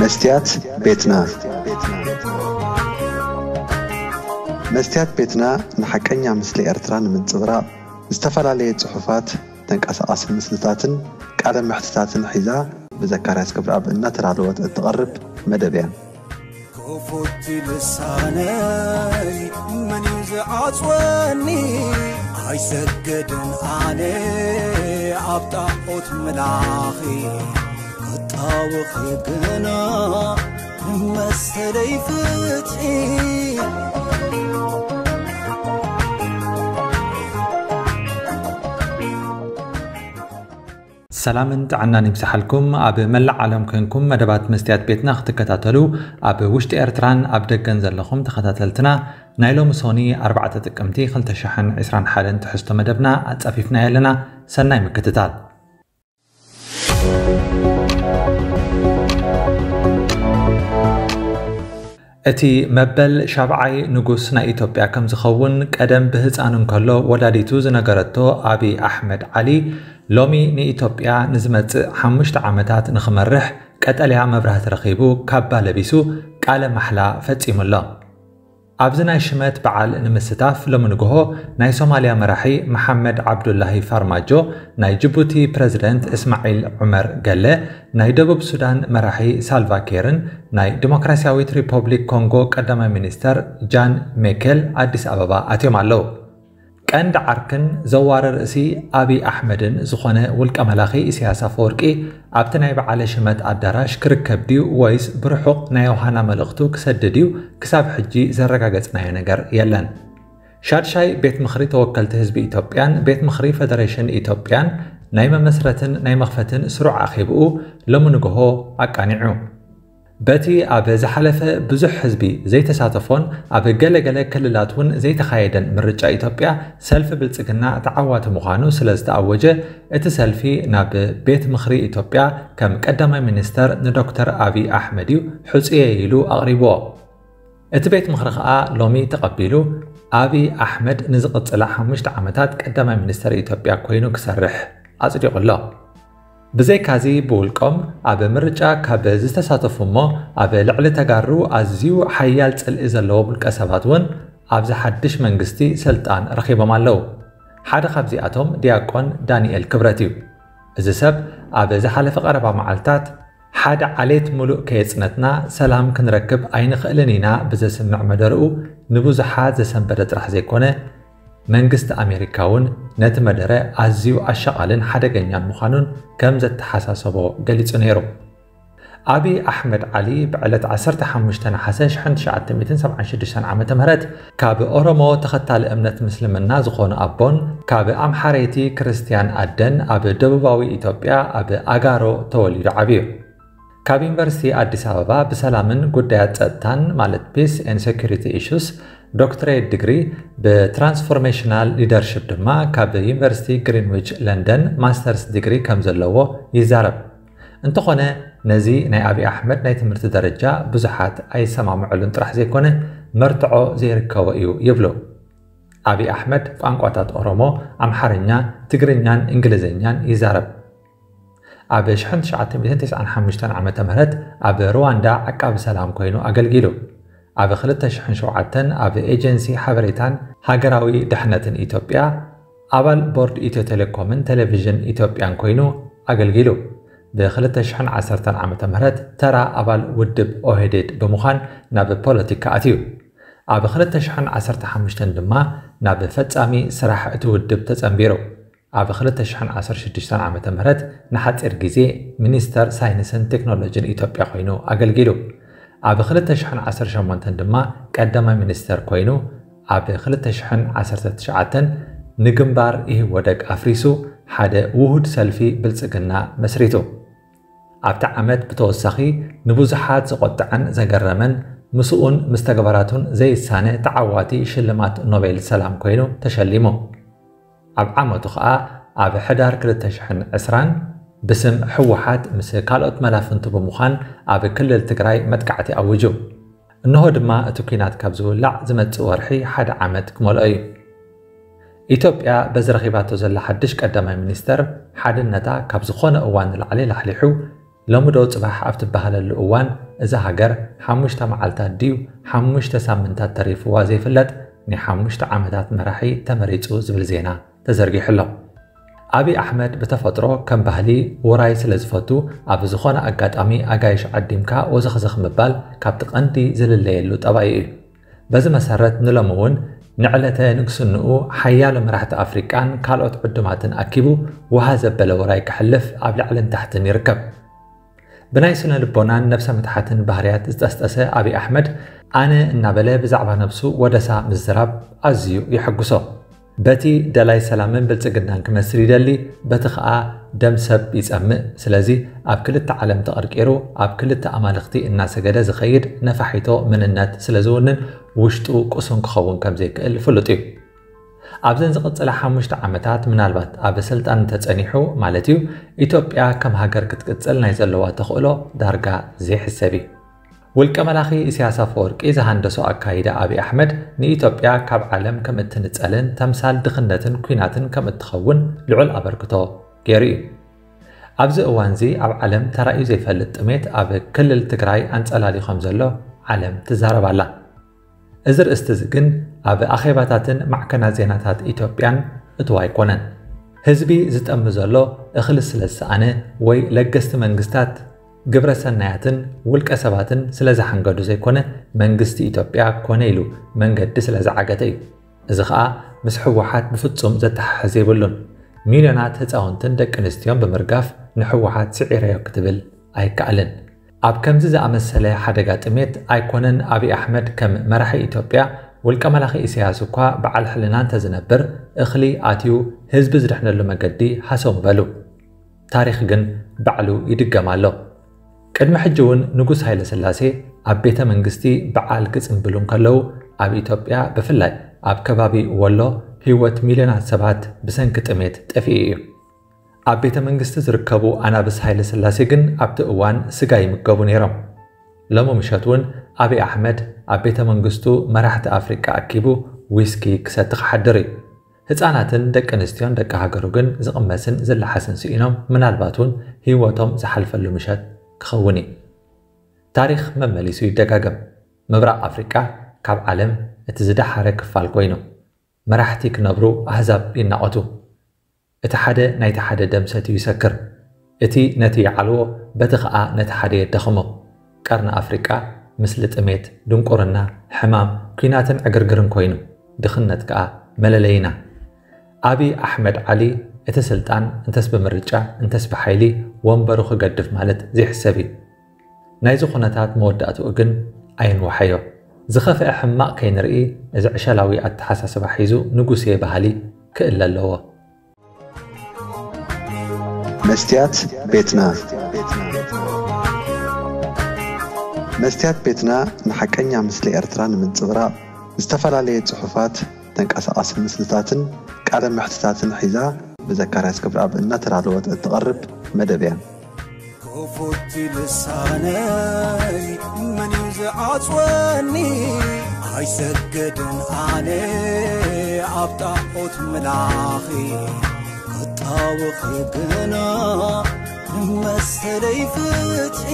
መስትያት ቤትና። መስትያት ቤትና ንሓቀኛ ምስሊ ኤርትራ ንምንጽብራቕ ዝተፈላለየ ጽሑፋት፣ ተንቀሳቓሲ ምስልታትን ቃለ መሕትታትን ሒዛ ብዘካርያስ ገብረኣብ እናተዳለወት እትቐርብ መደብ እያ። ክፉት ልሳነይ መን እዩ ዝዓጽወኒ? ኣይሰግድን ኣነ ኣብ ጣዖት ምላኺ፣ ክጣወኺ ግና መሰለይ ፍትሒ። ሰላምን ጥዕናን ይብዝሓልኩም። ኣብ መላእ ዓለም ኮንኩም መደባት መስትያት ቤትና ክትከታተሉ ኣብ ውሽጢ ኤርትራን ኣብ ደገን ዘለኹም ተኸታተልትና፣ ናይ ሎሚ ሶኒ ኣርባዕተ ጥቅምቲ ክልተ ሽሕን ዕስራን ሓደን ትሕዝቶ መደብና ኣጻፊፍናዮ ኣለና። ሰናይ ምክትታል። እቲ መበል ሻብዓይ ንጉስ ናይ ኢትዮጵያ ከም ዝኸውን ቀደም ብህፃን እንከሎ ወላዲቱ ዝነገረቶ ኣቢ ኣሕመድ ዓሊ፣ ሎሚ ንኢትዮጵያ ንዝመጽእ ሓሙሽተ ዓመታት ንኽመርሕ ቀጠልያ መብራህቲ ረኺቡ ካባ ለቢሱ ቃለ ማሕላ ፈጺሙ ኣሎ። ኣብዚ ናይ ሽመት በዓል ንምስታፍ ሎሚ ንግሆ ናይ ሶማልያ መራሒ መሓመድ ዓብዱላሂ ፋርማጆ፣ ናይ ጅቡቲ ፕረዚደንት እስማዒል ዑመር ገለ፣ ናይ ደቡብ ሱዳን መራሒ ሳልቫ ኬርን ናይ ዲሞክራሲያዊት ሪፐብሊክ ኮንጎ ቀዳማይ ሚኒስተር ጃን ሜኬል ኣዲስ ኣበባ ኣትዮም ኣለዉ። ቀንዲ ዓርክን ዘዋሪ ርእሲ ኣቢ ኣሕመድን ዝኾነ ውልቀ መላኺ ኢሳያስ ኣፈወርቂ ኣብቲ ናይ በዓለ ሽመት ኣዳራሽ ክርከብ ድዩ ወይስ ብርሑቕ ናይ ዮሃና መልእኽቱ ክሰድድ እዩ ክሳብ ሕጂ ዘረጋገጽናዮ ነገር የለን። ሻድሻይ ቤት ምኽሪ ተወከልቲ ህዝቢ ኢትዮጵያን ቤት ምኽሪ ፈደሬሽን ኢትዮጵያን ናይ መመስረትን ናይ መኽፈትን ስሩዕ ኣኼብኡ ሎሚ ንግሆ ኣቃኒዑ። በቲ ኣብ ዝሓለፈ ብዙሕ ህዝቢ ዘይተሳተፎን ኣብ ገለገለ ክልላት እውን ዘይተኻየደን ምርጫ ኢትዮጵያ፣ ሰልፊ ብልጽግና ተዓዋቲ ምዃኑ ስለ ዝተኣወጀ፣ እቲ ሰልፊ ናብ ቤት ምኽሪ ኢትዮጵያ ከም ቀዳማይ ሚኒስተር ንዶክተር ኣቢ ኣሕመድ እዩ ሕጹየ ኢሉ ኣቕሪብዎ። እቲ ቤት ምኽሪ ከኣ ሎሚ ተቐቢሉ፣ ኣቢ ኣሕመድ ንዝቕጽላ ሓሙሽተ ዓመታት ቀዳማይ ሚኒስተር ኢትዮጵያ ኮይኑ ክሰርሕ ኣጽዲቑ ኣሎ። ብዘይካዚ፣ ብውልቆም ኣብ ምርጫ ካብ ዝተሳተፉ እሞ ኣብ ልዕሊ ተጋሩ ኣዝዩ ሓያል ጽልኢ ዘለዎም ውልቀ ሰባት እውን ኣብዚ ሓድሽ መንግስቲ ስልጣን ረኺቦም ኣለዉ። ሓደ ካብዚኣቶም ዲያቆን ዳንኤል ክብረት እዩ። እዚ ሰብ ኣብ ዝሓለፈ ቀረባ መዓልታት፣ ሓደ ዓሌት ምሉእ ከየጽነትና ሰላም ክንረክብ ኣይንኽእልን ኢና ብዘስምዕ መደርኡ ንብዙሓት ዘሰንበደ ጥራሕ ዘይኮነ፣ መንግስቲ ኣሜሪካ እውን ነቲ መደረ ኣዝዩ ኣሻቓልን ሓደገኛን ምዃኑን ከም ዘተሓሳሰቦ ገሊጹ ነይሩ። ኣቢ ኣሕመድ ዓሊ ብዕለት ዓሰርተ ሓሙሽተ ነሓሰ ሽሕን ትሽዓተ ሚእትን ሰብዓን ሽዱሽተን ዓመተ ምህረት ካብ ኦሮሞ ተኸታሊ እምነት ምስልምና ዝኾኑ ኣቦን ካብ ኣምሓረይቲ ክርስትያን ኣደን ኣብ ደቡባዊ ኢትዮጵያ ኣብ ኣጋሮ ተወሊዱ ዓብዩ። ካብ ዩኒቨርሲቲ ኣዲስ ኣበባ ብሰላምን ጉዳያት ጸጥታን ማለት Peace and Security Issues ዶክትሬት ዲግሪ፣ ብትራንስፎርሜሽናል ሊደርሺፕ ድማ ካብ ዩኒቨርሲቲ ግሪንዊች ለንደን ማስተርስ ዲግሪ ከም ዘለዎ ይዛረብ። እንተኾነ፣ ነዚ ናይ ኣቢ ኣሕመድ ናይ ትምህርቲ ደረጃ ብዙሓት ኣይሰማምዕሉን ጥራሕ ዘይኮነ፣ መርትዖ ዘይርከቦ እዩ ይብሉ። ኣቢ ኣሕመድ ቋንቋታት ኦሮሞ፣ ኣምሓርኛ፣ ትግርኛን እንግሊዝኛን ይዛረብ። ኣብ ሽሕን ትሽዓተ ሚእትን ተስዓን ሓሙሽተን ዓመተ ምህረት ኣብ ሩዋንዳ ዓቃቢ ሰላም ኮይኑ ኣገልጊሉ። ኣብ ክልተ ሽሕን ሸውዓተን ኣብ ኤጀንሲ ሓበሬታን ሃገራዊ ድሕነትን ኢትዮጵያ፣ ኣባል ቦርድ ኢትዮ ቴሌኮምን ቴሌቪዥን ኢትዮጵያን ኮይኑ ኣገልጊሉ። ብ ክልተ ሽሕን ዓሰርተን ዓመተ ምህረት ተራ ኣባል ውድብ ኦህዴድ ብምዃን ናብ ፖለቲካ ኣትዩ። ኣብ ክልተ ሽሕን ዓሰርተ ሓሙሽተን ድማ ናብ ፈጻሚ ስራሕ እቲ ውድብ ተጸንቢሩ። ኣብ ክልተ ሽሕን ዓሰርተ ሽዱሽተን ዓመተ ምህረት ንሓጺር ግዜ ሚኒስተር ሳይንስን ቴክኖሎጂን ኢትዮጵያ ኮይኑ ኣገልጊሉ። ኣብ ክልተ ሽሕን ዓሰርተ ሸሞንተን ድማ ቀዳማይ ሚኒስተር ኮይኑ፣ ኣብ ክልተ ሽሕን ዓሰርተ ትሽዓተን ንግንባር ኢህወደግ ኣፍሪሱ ሓደ ውሁድ ሰልፊ ብልጽግና መስሪቱ። ኣብቲ ዓመት ብተወሳኺ ንብዙሓት ዘቖጥዐን ዘገረመን ምስኡን ምስ ተግባራቱን ዘይሳነ ተዓዋቲ ሽልማት ኖቤል ሰላም ኮይኑ ተሸሊሙ። ኣብ ዓመቱ ኸኣ ኣብ ሕዳር ክልተ ሽሕን ዕስራን ብስም ህወሓት ምስ ካልኦት መላፍንቱ ብምዃን ኣብ ክልል ትግራይ መጥቃዕቲ ኣዊጁ። እንሆ ድማ እቲ ኲናት ካብ ዝውላዕ ዝመጽእ ወርሒ ሓደ ዓመት ክመልኦ እዩ። ኢትዮጵያ በዚ ረኺባቶ ዘላ ሓድሽ ቀዳማይ ሚኒስተር ሓድነታ ካብ ዝኾነ እዋን ንላዕሊ ላሕሊሑ፣ ሎሚ ዶ ጽባሕ ኣብ ትበሃለሉ እዋን እዛ ሃገር ሓሙሽተ መዓልታት ድዩ ሓሙሽተ ሳምንታት ተሪፍዋ ዘይፍለጥ ናይ ሓሙሽተ ዓመታት መራሒ ተመሪጹ ዝብል ዜና ተዘርጊሑ ኣሎ። ኣብይ ኣሕመድ ብተፈጥሮ ከም ባህሊ ውራይ ስለ ዝፈቱ ኣብ ዝኾነ ኣጋጣሚ ኣጋይሽ ዓዲምካ ወዘኽዘኽ ምባል ካብቲ ቀንዲ ዝልለየሉ ጠባዩ እዩ። በዚ መሰረት ንሎሚ እውን ንዕለተ ንግስንኡ ሓያሎ መራሕቲ ኣፍሪቃን ካልኦት ዕዱማትን ኣኪቡ ውሃ ዘበለ ውራይ ከሕልፍ ኣብ ላዕልን ታሕትን ይርከብ። ብናይ ስነ ልቦናን ነብሰ ምትሓትን ባህርያት ዝጠስጠሰ ኣብይ ኣሕመድ ኣነ እናበለ ብዛዕባ ነብሱ ወደሳ ምዝራብ ኣዝዩ የሐጉሶ። በቲ ደላይ ሰላምን ብልጽግናን ክመስል ይደሊ፣ በቲ ኸኣ ደም ሰብ ይጸምእ። ስለዚ ኣብ ክልተ ዓለም ተቐርቂሩ ኣብ ክልተ ኣማልኽቲ እናሰገደ ዝኸይድ ነፋሒቶ መንነት ስለ ዝውንን ውሽጡ ቅሱን ክኸውን ከም ዘይክእል ፍሉጥ እዩ። ኣብዘን ዝቕጽላ ሓሙሽተ ዓመታት ምናልባት ኣብ ስልጣን እንተጸኒሑ ማለት እዩ፣ ኢትዮጵያ ከም ሃገር ክትቅጽል ናይ ዘለዋ ተኽእሎ ዳርጋ ዘይሕሰብ እዩ። ውልቀ መላኺ ኢሳያስ ኣፈወርቂ ዝሃንደሶ ኣካይዳ ኣብይ ኣሕመድ ንኢትዮጵያ ካብ ዓለም ከም እትንጸልን ተምሳል ድኽነትን ኲናትን ከም እትኸውን ልዑል ኣበርክቶ ገይሩ እዩ። ኣብዚ እዋንዚ ኣብ ዓለም ተራእዩ ዘይፈልጥ ጥሜት ኣብ ክልል ትግራይ ኣንጸላልዩ ከም ዘሎ ዓለም ትዛረብ ኣላ። እዚ ርእስቲ እዚ ግን ኣብ ኣኼባታትን ማዕከናት ዜናታት ኢትዮጵያን እትው ኣይኮነን። ህዝቢ ዝጠሚ ዘሎ እኽሊ ስለ ዝሰኣነ ወይ ለገስቲ መንግስታት ግብረ ሰናያትን ውልቀ ሰባትን ስለ ዝሓንገዱ ዘይኮነ መንግስቲ ኢትዮጵያ ኮነ ኢሉ መንገዲ ስለ ዝዓገተ እዩ። እዚ ኸኣ ምስ ህወሓት ብፍጹም ዘተሓሕዝ የብሉን። ሚልዮናት ህፃውንትን ደቂ ኣንስትዮን ብምርጋፍ ንህወሓት ስዒረዮ ክትብል ኣይከኣልን። ኣብ ከምዚ ዝኣመሰለ ሓደጋ ጥሜት ኣይኮነን ኣብይ ኣሕመድ ከም መራሒ ኢትዮጵያ ውልቀ መላኺ ኢሳያስ እኳ በዓል ሕልና እንተዝነብር እኽሊ ኣትዩ ህዝቢ ዝድሕነሉ መገዲ ሃሰው ምበሉ። ታሪኽ ግን ባዕሉ ይድገም ኣሎ። ቅድሚ ሕጂ እውን ንጉስ ሃይለ ስላሴ ኣብ ቤተ መንግስቲ በዓል ክጽንብሉ እንከለዉ ኣብ ኢትዮጵያ ብፍላይ ኣብ ከባቢ ወሎ ህይወት ሚልዮናት ሰባት ብሰንኪ ጥሜት ጠፊኡ እዩ። ኣብ ቤተ መንግስቲ ዝርከቡ ኣናብስ ሃይለ ስላሴ ግን ኣብቲ እዋን ስጋ ይምገቡ ነይሮም። ሎሚ ምሸት እውን ኣብይ ኣሕመድ ኣብ ቤተ መንግስቱ መራሕቲ ኣፍሪቃ ኣኪቡ ዊስኪ ክሰቲ ክሓድር እዩ። ህፃናትን ደቂ ኣንስትዮን ደቂ ሃገሩ ግን ዝቕመስን ዝለሓስን ስኢኖም ምናልባት እውን ህይወቶም ዝሓልፈሉ ምሸት ክኸውን እዩ። ታሪኽ መመሊሱ ይደጋገም። ምብራቕ ኣፍሪቃ ካብ ዓለም እቲ ዝደሓረ ክፋል ኮይኑ መራሕቲ ክነብሩ ኣህዛብ ይናቖቱ። እቲ ሓደ ናይቲ ሓደ ደም ሰትዩ ይሰክር። እቲ ነቲ ይዓልዎ በቲ ኸኣ ነቲ ሓደ የዳኽሞ። ቀርኒ ኣፍሪቃ ምስሊ ጥሜት፣ ድንቁርና፣ ሕማም፣ ኲናትን ዕግርግርን ኮይኑ ድኽነት ከኣ መለለይና። ኣብይ ኣሕመድ ዓሊ እቲ ስልጣን እንተስ ብምርጫ እንተስ ብሓይሊ ወንበሩ ክገድፍ ማለት ዘይሕሰብ እዩ። ናይዚ ኩነታት መወዳእትኡ ግን ኣየንውሓዮ። ዝኸፍአ ሕማቕ ከይንርኢ እዚ ዕሸላዊ ኣተሓሳስባ ሒዙ ንጉስየ በሃሊ ክእለ ኣለዎ። መስትያት ቤትና መስትያት ቤትና ንሓቀኛ ምስሊ ኤርትራ ንምንጽብራቕ ዝተፈላለየ ጽሑፋት፣ ተንቀሳቓሲ ምስልታትን ቃለ መሕትታትን ሒዛ ብዘካርያስ ክብረኣብ እናተዳለወት እትቐርብ መደብ እያ። ክፉት ልሳነይ መን እዩ ዝዓጽወኒ? ኣይሰግድን ኣነ ኣብ ጣዖት ምላኺ ክጣወኺ ግና ንመሰለይ ፍትሒ